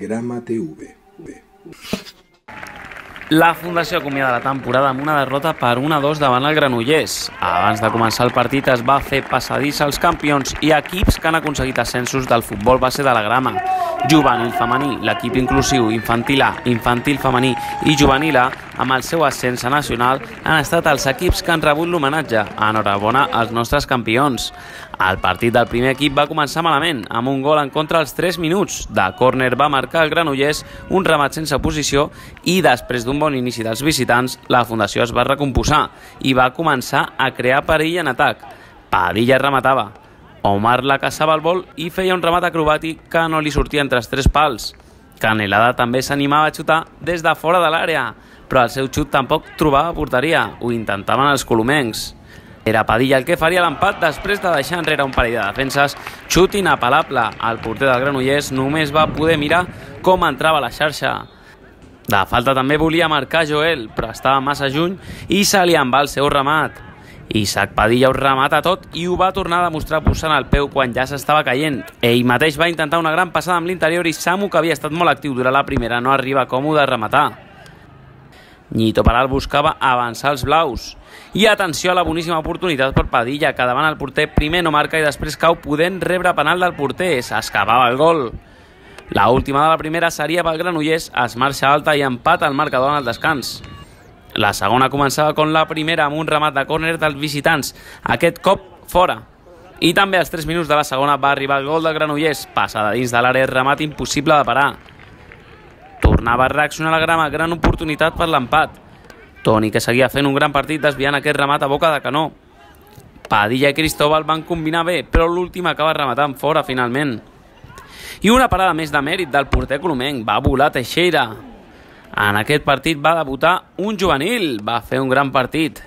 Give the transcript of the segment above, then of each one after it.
Grama TV. La Fundació acomiada la temporada amb una derrota per 1-2 davant el Granollers. Abans de començar el partit es va fer passadís als campions i equips que han aconseguit ascensos del futbol base de la Grama. Juvenil femení, l'equip inclusiu infantil A, infantil femení i juvenil A, amb el seu ascens a nacional, han estat els equips que han rebut l'homenatge. Enhorabona als nostres campions. El partit del primer equip va començar malament, amb un gol en contra als 3 minuts. De córner va marcar el Granollers un remat sense posició i després d'un bon inici dels visitants, la Fundació es va recomposar i va començar a crear perill en atac. Padilla rematava. Omar la caçava el vol i feia un remat acrobàtic que no li sortia entre els 3 pals. Canelada també s'animava a xutar des de fora de l'àrea, però el seu xut tampoc trobava porteria. Ho intentaven els colomencs. Era Padilla el que faria l'empat després de deixar enrere un parell de defenses. Xut inapel·lable. El porter del Granollers només va poder mirar com entrava a la xarxa. De falta també volia marcar Joel, però estava massa lluny i se li en va el seu remat. Isaac Padilla ho remata tot i ho va tornar a demostrar posant el peu quan ja s'estava caient. Ell mateix va intentar una gran passada amb l'interior i Samu, que havia estat molt actiu durant la primera, no arriba còmode a rematar. Nyito Peral buscava avançar els blaus. I atenció a la boníssima oportunitat per Padilla, que davant el porter primer no marca i després cau podent rebre penal del porter. S'escapava el gol. La última de la primera seria pel Granollers, es marxa alta i empata el marcador en el descans. La segona començava com la primera amb un remat de córner dels visitants, aquest cop fora. I també als 3 minuts de la segona va arribar el gol del Granollers, passada dins de l'àrea, remat impossible de parar. Tornava a reaccionar la Grama, gran oportunitat per l'empat. Toni, que seguia fent un gran partit desviant aquest remat a boca de canó. Padilla i Cristóbal van combinar bé, però l'últim acaba rematant fora finalment. I una parada més de mèrit del porter colomenc, va volar Teixeira. En aquest partit va debutar un juvenil, va fer un gran partit.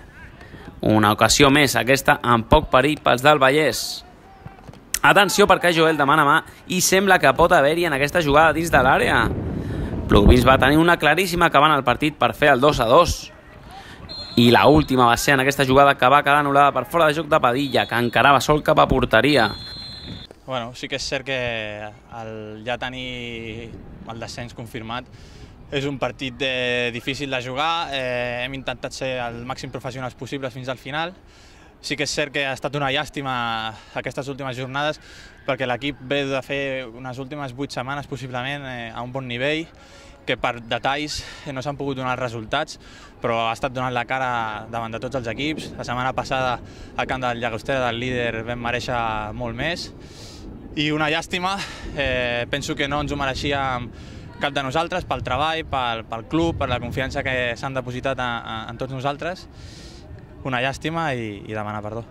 Una ocasió més, aquesta amb poc perill pels del Vallès. Atenció perquè Joel demana mà i sembla que pot haver-hi en aquesta jugada dins de l'àrea. Plugins va tenir una claríssima acabant el partit per fer el 2-2. I la última va ser en aquesta jugada que va quedar anul·lada per fora de joc de Padilla, que encarava sol cap a porteria. Bueno, sí que és cert que ja tenir el descens confirmat és un partit difícil de jugar. Hem intentat ser el màxim professionals possibles fins al final. Sí que és cert que ha estat una llàstima aquestes últimes jornades perquè l'equip ve de fer unes últimes 8 setmanes possiblement a un bon nivell, que per detalls no s'han pogut donar els resultats, però ha estat donant la cara davant de tots els equips. La setmana passada al camp del Llagostera del líder vam mereixer molt més i una llàstima. Penso que no ens ho mereixíem cap de nosaltres, pel treball, pel club, per la confiança que s'han depositat en tots nosaltres. Una llàstima i demanar perdó.